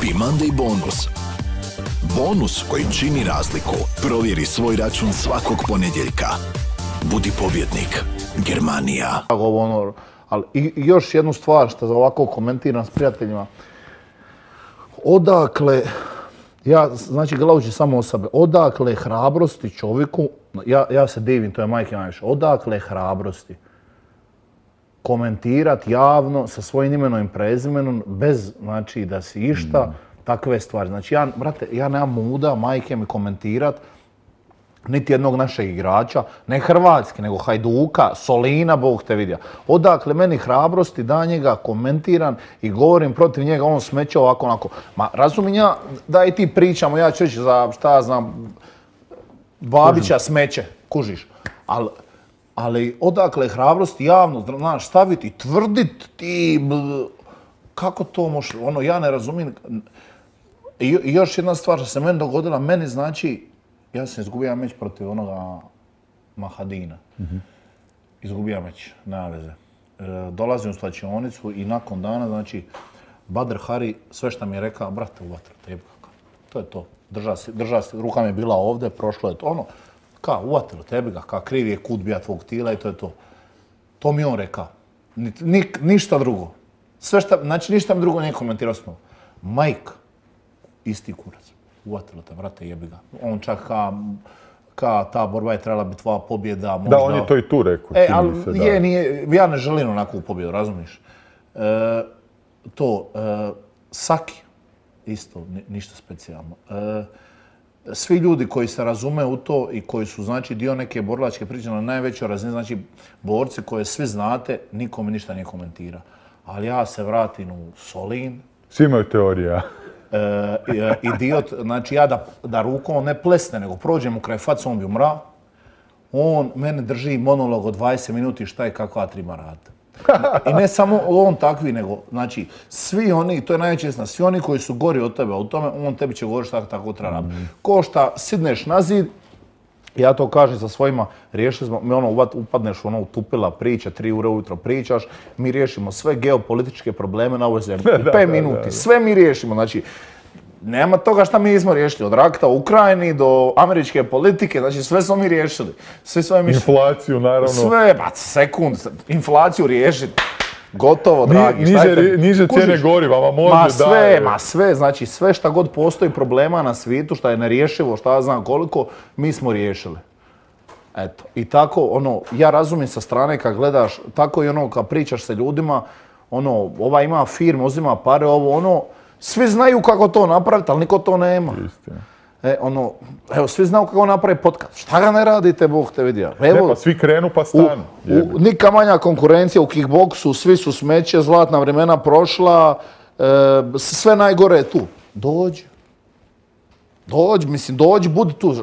Happy Monday bonus. Bonus koji čini razliku. Provjeri svoj račun svakog ponedjeljka. Budi pobjednik. Germanija. Ali i još jednu stvar što za ovako komentiram s prijateljima. Odakle, znači gledajući samo o sebe, odakle hrabrosti čovjeku, ja se divim, to je majke najviše, odakle hrabrosti komentirati javno sa svojim imenom i prezimenom bez, znači, da si išta, takve stvari. Znači, brate, ja nemam muda majke mi komentirati niti jednog našeg igrača, ne hrvatski, nego Hajduka, Solina, Bog te vidio. Odakle meni hrabrosti da njega komentiram i govorim protiv njega, on smeće ovako, onako. Ma razumijem ja da i ti pričamo, ja ću reći za, šta znam, Babića smeće, kužiš. Ali odakle hrabrosti javno, znaš, staviti, tvrditi ti, kako to može, ono, ja ne razumijem. I još jedna stvar što se meni dogodila, meni znači, ja sam izgubio meč protiv onoga Mahadina. Izgubio meč, nema veze. Dolazim u slačionicu i nakon dana, znači, Badr Hari, sve što mi je rekao, brate, u vatru, tebi kako. To je to. Drža se, ruka mi je bila ovdje, prošlo je to. Ono, ka, u vatru, tebi ga, ka, kriv je kut bija tvog tila i to je to. To mi on rekao. Ništa drugo. Sve šta, znači, ništa mi drugo nije komentirao s njom. Mike, isti kurac. Uvatilo te, brate, jebi ga. On čak ka ta borba je trebala biti tvoja pobjeda. Možda... Da, on je to i tu rekao. Ali nije, ja ne želim onakvu pobjedu, razumiješ? Saki, isto, ništa specijalno. Svi ljudi koji se razume u to i koji su, znači, dio neke borilačke priče na najvećoj razini, znači, borci koje svi znate, niko mi ništa nije komentira. Ali ja se vratim u Solin. Svi imaju teorija. Idiot, znači ja da rukom ne plesne, nego prođem u kraj faca, on bi umra. On mene drži monolog od 20 minuti šta je kakva treba raditi. I ne samo on takvi, nego, znači, svi oni, to je najveća istina, svi oni koji su gori od tebe, u tome, on tebi će govoriti šta tako treba raditi. Ko šta sidneš na zid, ja to kažem sa svojima, riješili smo, mi ono, upadneš u ono utupila priča, 3 ure ujutro pričaš, mi riješimo sve geopolitičke probleme na ovoj zemlji. U 5 minuti, sve mi riješimo, znači, nema toga šta mi nismo riješili, od rakta u Ukrajini do američke politike, znači sve smo mi riješili. Inflaciju, naravno. Sve, sekund, inflaciju riješiti. Gotovo, dragi. Niže cijene goriva, ma može sve, znači sve šta god postoji problema na svijetu, šta je nerješivo, šta ja znam koliko, mi smo riješili. Eto, i tako, ono, ja razumijem sa strane kad gledaš, tako i ono kad pričaš sa ljudima, ono, ova ima firmu, uzima pare, ovo, ono, svi znaju kako to napraviti, ali niko to nema. Istina. Evo, svi znaju kako napravi podcast. Šta ga ne radite, Bog te vidio? Pa svi krenu pa stanu. Nika manja konkurencija u kickboksu, svi su smeće, zlatna vremena prošla, sve najgore je tu. Dođi, budi tu.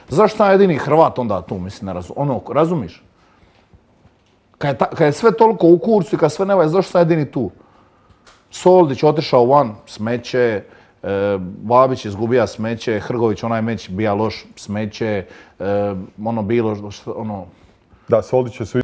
Zašto sam jedini Hrvat onda tu, mislim, razumiš? Kad je sve toliko u kurcu i kad sve ne valja, zašto sam jedini tu? Soldić otišao van, smeće, Babić izgubija smeće, Hrgović onaj meč bija loš, smeće, ono bilo, ono... Da, Soldić je